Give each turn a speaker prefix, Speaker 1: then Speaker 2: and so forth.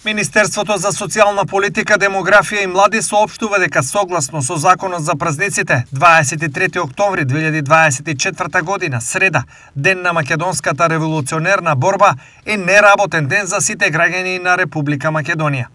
Speaker 1: Министерството за социјална политика, демографија и млади соопштува дека согласно со Законот за празниците, 23 октомври 2024 година, среда, ден на македонската револуционерна борба, е неработен ден за сите граѓани на Република Македонија.